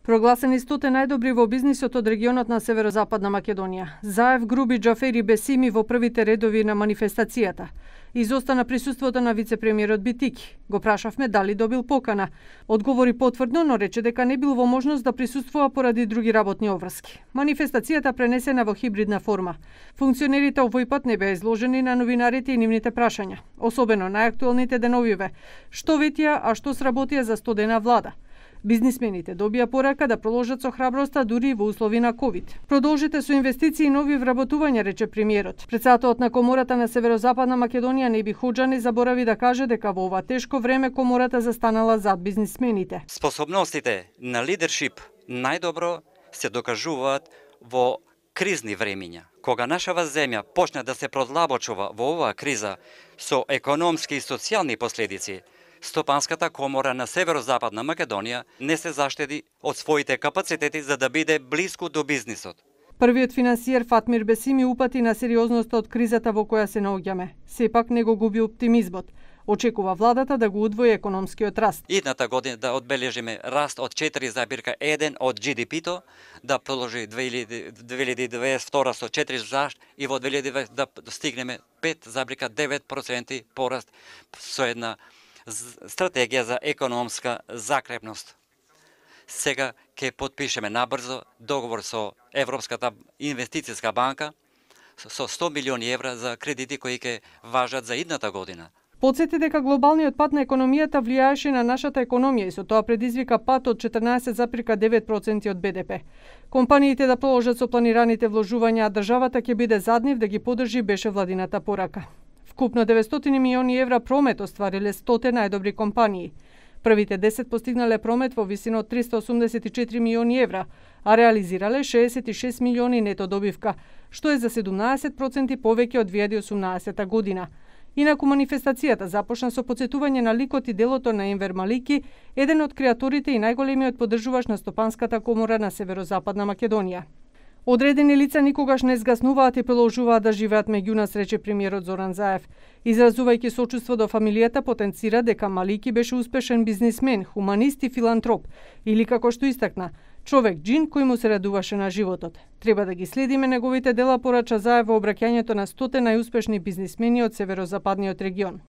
Прогласени 100 најдобри во бизнисот од регионот на Северозападна Македонија. Заев Груби Џафери Бесими во првите редови на манифестацијата. Изостана присуството на вице-премиерот Битики. Го прашавме дали добил покана. Одговори потврдно, но рече дека не бил во можност да присуствува поради други работни обврски. Манифестацијата пренесена во хибридна форма. Функционерите овој пат не беа изложени на новинарите и нивните прашања, особено најактуелните деновиве. Што ветија, а што сработија за 100 дена влада? Бизнисмените добија порака да продолжат со храброста дури во услови на ковид. Продолжите со инвестиции и нови вработувања, рече премиерот. Председателот на Комората на Северозападна Македонија Неби Хоџани заборави да каже дека во ова тешко време Комората застанала зад бизнисмените. Способностите на лидершип најдобро се докажуваат во кризни времиња. Кога нашава земја почне да се продлабочува во оваа криза со економски и социјални последици, Стопанската комора на Северозападна Македонија не се заштеди од своите капацитети за да биде блиску до бизнисот. Првиот финансиер Фатмир Бесими упати на сериозноста од кризата во која се наоѓаме. Сепак не го губи оптимизмот. Очекува владата да го удвои економскиот раст. Идната година да одбележиме раст од 4,1 од GDP-то, да продолжи 2022 со 4 и во 2020 да стигнеме 5,9% пораст со една стратегија за економска закрепност. Сега ќе потпишеме набрзо договор со Европската инвестицијска банка со 100 милиони евра за кредити кои ќе важат за идната година. Подсети дека глобалниот пат на економијата влијаеше на нашата економија и со тоа предизвика пат од 14,9% од БДП. Компаниите да продолжат со планираните вложувања, а државата ќе биде зад нив да ги поддржи, беше владината порака. Вкупно 900 милиони евра промет оствариле 100 најдобри компании. Првите 10 постигнале промет во висина од 384 милиони евра, а реализирале 66 милиони нето добивка, што е за 17% повеќе од 2018 година. Инаку манифестацијата започна со потсетување на ликот и делото на Енвер Малики, еден од креаторите и најголемиот поддржуваш на Стопанската комора на Северозападна Македонија. Одредени лица никогаш не згаснуваат и продолжуваат да живеат меѓу нас, рече премиерот Зоран Заев. Изразувајќи сочувство до фамилијата, потенцира дека Малики беше успешен бизнисмен, хуманист и филантроп, или како што истакна, човек џин кој му се радуваше на животот. Треба да ги следиме неговите дела, порача Заев во обраќањето на 100 најуспешни бизнисмени од Северозападниот регион.